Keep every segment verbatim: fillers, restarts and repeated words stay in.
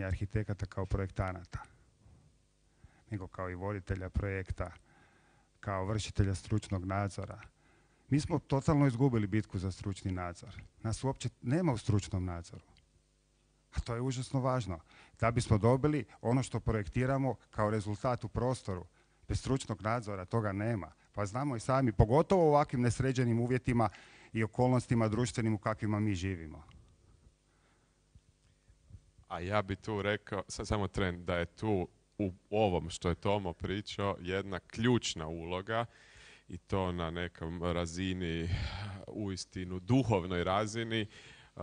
arhitekata kao projektanata, nego kao i voditelja projekta, kao vršitelja stručnog nadzora. Mi smo totalno izgubili bitku za stručni nadzor. Nas uopće nema u stručnom nadzoru. A to je užasno važno. Da bismo dobili ono što projektiramo kao rezultat u prostoru. Bez stručnog nadzora toga nema. Pa znamo i sami, pogotovo u ovakvim nesređenim uvjetima i okolnostima društvenim u kakvima mi živimo. A ja bi tu rekao, sad samo tren, da je tu u ovom što je Tomo pričao jedna ključna uloga i to na nekom razini, uistinu duhovnoj razini, Uh,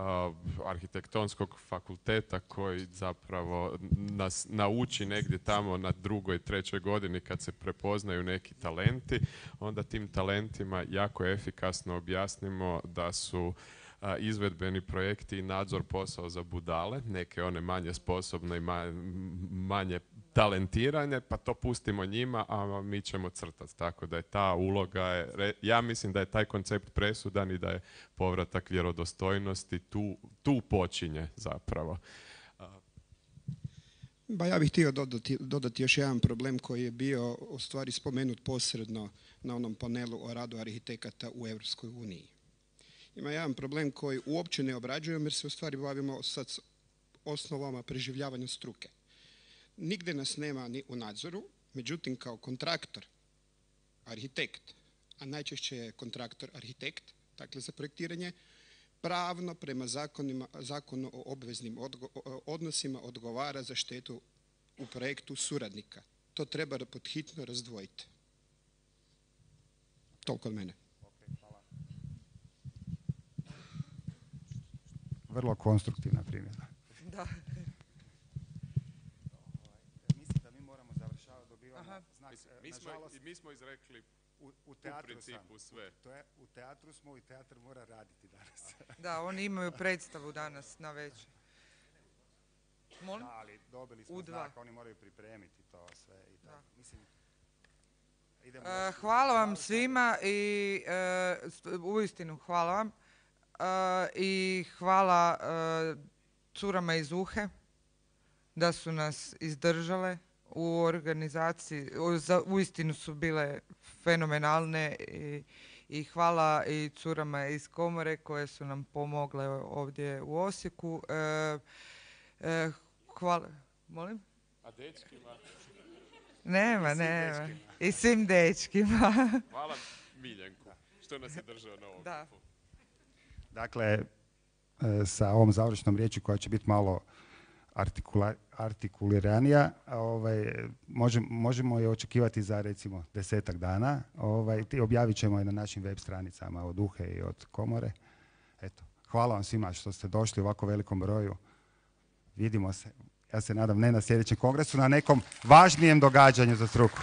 arhitektonskog fakulteta koji zapravo nas nauči negdje tamo na drugoj, trećoj godini kad se prepoznaju neki talenti, onda tim talentima jako efikasno objasnimo da su uh, izvedbeni projekti i nadzor posao za budale, neke one manje sposobne i ma manje talentirane, pa to pustimo njima, a mi ćemo crtati. Tako da je ta uloga, je, ja mislim da je taj koncept presudan i da je povratak vjerodostojnosti tu, tu počinje zapravo. Ba ja bih htio dodati, dodati još jedan problem koji je bio u stvari spomenut posredno na onom panelu o radu arhitekata u Europskoj uniji. Ima jedan problem koji uopće ne obrađujemo jer se u stvari bavimo sad s osnovama preživljavanja struke. Nigdje nas nema ni u nadzoru, međutim kao kontraktor, arhitekt, a najčešće je kontraktor arhitekt, dakle za projektiranje, pravno prema zakonima, zakonu o obveznim odgo, odnosima odgovara za štetu u projektu suradnika. To treba podhitno razdvojiti. Toliko od mene. Okay, hvala. Vrlo konstruktivna primjena. Da. Znak, mi, smo, nažalost, mi smo izrekli u, u, teatru u principu sam. Sve. U, te, u teatru smo i teatr mora raditi danas. Da, oni imaju predstavu danas na večer. Molim? Da, ali dobili smo znak, oni moraju pripremiti to sve. I tako. Mislim, idemo uh, hvala vam svima i uh, uistinu hvala vam. Uh, I hvala uh, curama iz Uhe da su nas izdržale u organizaciji, uistinu su bile fenomenalne i, i hvala i curama iz komore koje su nam pomogle ovdje u Osijeku. E, e, hvala, molim? A dečkima? Nema, nema. I svim dečkima. Hvala Miljenku što nas je držao na ovom. Da. Dakle, sa ovom završnom riječi koja će biti malo Artikula, artikuliranija, ovaj, možemo, možemo je očekivati za recimo desetak dana. Ovaj, objavit ćemo je na našim web stranicama od Uhe i od komore. Eto, hvala vam svima što ste došli u ovako velikom broju. Vidimo se, ja se nadam ne na sljedećem kongresu, na nekom važnijem događanju za struku.